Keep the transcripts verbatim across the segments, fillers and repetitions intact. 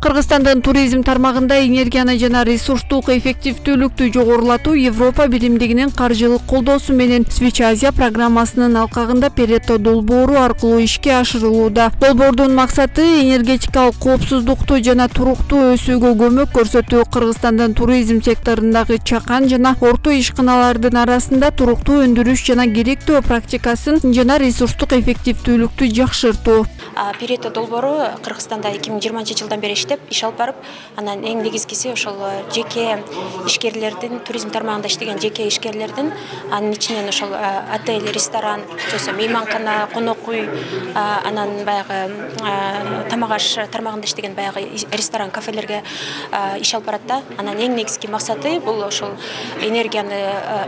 Кыргызстандын туризм тармагында энергияны жана ресурстук эффективдүүлүктү жогорулатуу Европа биримдигинин каржылык колдоосу менен Switch Asia программасынын алкагында Pareto долбоору аркылуу ишке ашырылууда. Долбоордун максаты энергетикалык коопсуздукту жана туруктуу өсүүгө көмөк көрсөтүү. Кыргызстандын туризм секторундагы чакан жана орто ишканалардын арасында туруктуу өндүрүш жана керектүү практикасын жана ресурстук эффективдүүлүктү жакшыртуу. Pareto долбоору Кыргызстанда эки миң жыйырманчы жылдан бери иштеп, иш алып барып, анан эң негизгиси ошол жеке ишкерлердин, туризм тармагында иштеген жеке ишкерлердин, анын ичинен ошол отель, ресторан, жосо мейманкана, конок үй, анан баягы тамак аш тармагында иштеген баягы ресторан, кафелерге иш алып барат да. Анан эң негизги максаты бул ошол энергияны,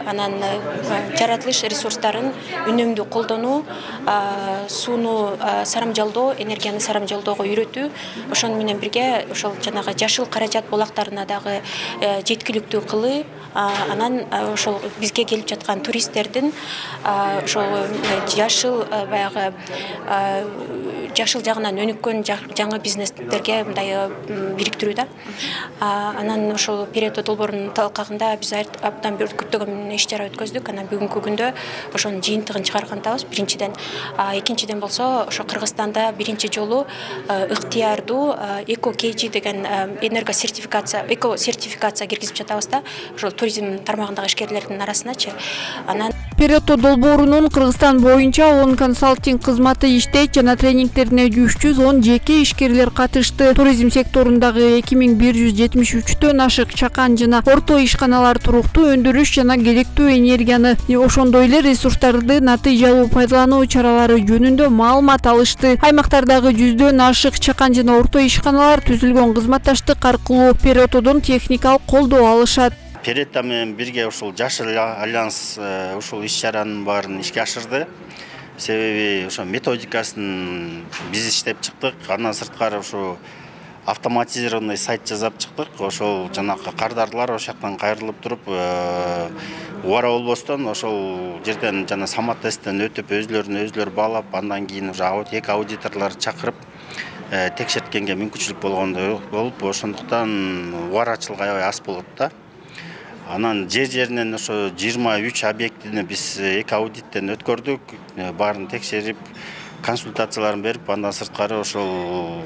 анан жаратылыш ресурстарын үнөмдүү колдонуу, сууну сарамжалдоо, энергияны сарамжалоого үйрөтүү, ошону менен бирге ошол жанагы жашыл каражат булактарына дагы жеткиликтүү кылуу, анан ошол бизге келип жаткан туристтердин ошол жашыл баягы жашыл жагынан өнүккөн жаңы бизнестерге мындай бириктирүү да. Анан ошол Pareto долбоорунун талкагында биз абдан бир көптөгөн иш чара өткөздүк. Анан бүгүнкү күндө ошонун жыйынтыгын чыгаргандабыз. Биринчиден, экинчиден болсо ошо Кыргызстанда биринчи жолу ыктыярдуу эко кейжи деген энерго сертификация, эко сертификация киргизип жатабыз да. Ошол туризм тармагындагы ишкерлердин арасыначы. Анан Pareto долбоорунун Кыргызстан боюнча он консалтинг кызматы иштейт жана тренингтерине үч жүз он жеке ишкерлер катышты. Туризм секторундагы эки миң бир жүз жетимиш үчтөн ашык чакан жана орто ишканалар туруктуу өндүрүш жана керектүү энергияны, ошондой эле ресурстарды натыйжалуу пайдалануу чаралары жөнүндө маалымат алышты. Аймактардагы жүздөн ашык чакан жана орто ишканалар түзүлгөн кызматташтык аркылуу Paretodон техникалык колдоо алышат. Pareto менен бирге ушул Жашыл альянс ушул иш-чаранын баарын ишке ашырды. Себеби ошо методикасын биз иштеп чыктык. Андан сырткары ушу автоматизированный сайт жасап чыктык. Ошол жанакы кардарлар ошол жактан кайрылып туруп, убара болбостон ошол жерден жана самат тесттен өтүп, өзлөрүн өзлөр баалап, андан кийин уже эки аудиторлор чакырып текшерткенге мүмкүнчүлүк болгондой болуп, ошондуктан убарачылык аябай аз болот да. Анан жер жеринен ошо жыйырма үч объектини биз эки аудиттен өткөрдүк, баарын текшерип, консультацияларын берип, андан сырткары ошол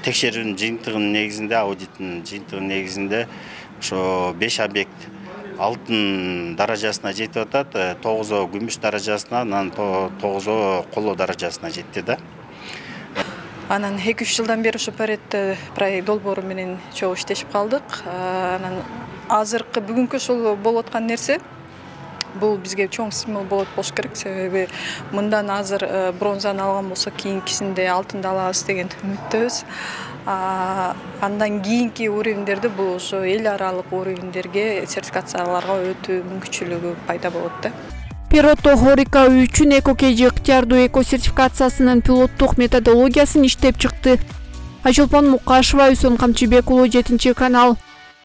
текшерүүнүн жыйынтыгынын негизинде, аудиттин жыйынтыгынын негизинде ошо беш объект алтын даражасына жетип атат, тогузоо күмүш даражасына, анан тогузоо коло даражасына жетти да. Анан эки үч жылдан бери ошо Pareto проект долбоору менен чогуу иштешип калдык. Анан азыркы бүгүнкү ошол болуп аткан нерсе бул бизге чоң стимул болот болуш керек. Себеби мындан азыр бронзаны алган болсок, кийинкисинде алтынды алабыз деген үмүттөбүз. Андан кийинки уровендерди бул ошо эл аралык уровендерге, сертификацияларга өтүү мүмкүнчүлүгү пайда болот да. Pareto Хорика үчүн эко кейжи ыктыярдуу эко сертификациясынын пилоттук методологиясын иштеп чыкты. Айчолпон Мукашева, Үсөн Камчыбек уулу, жетинчи канал.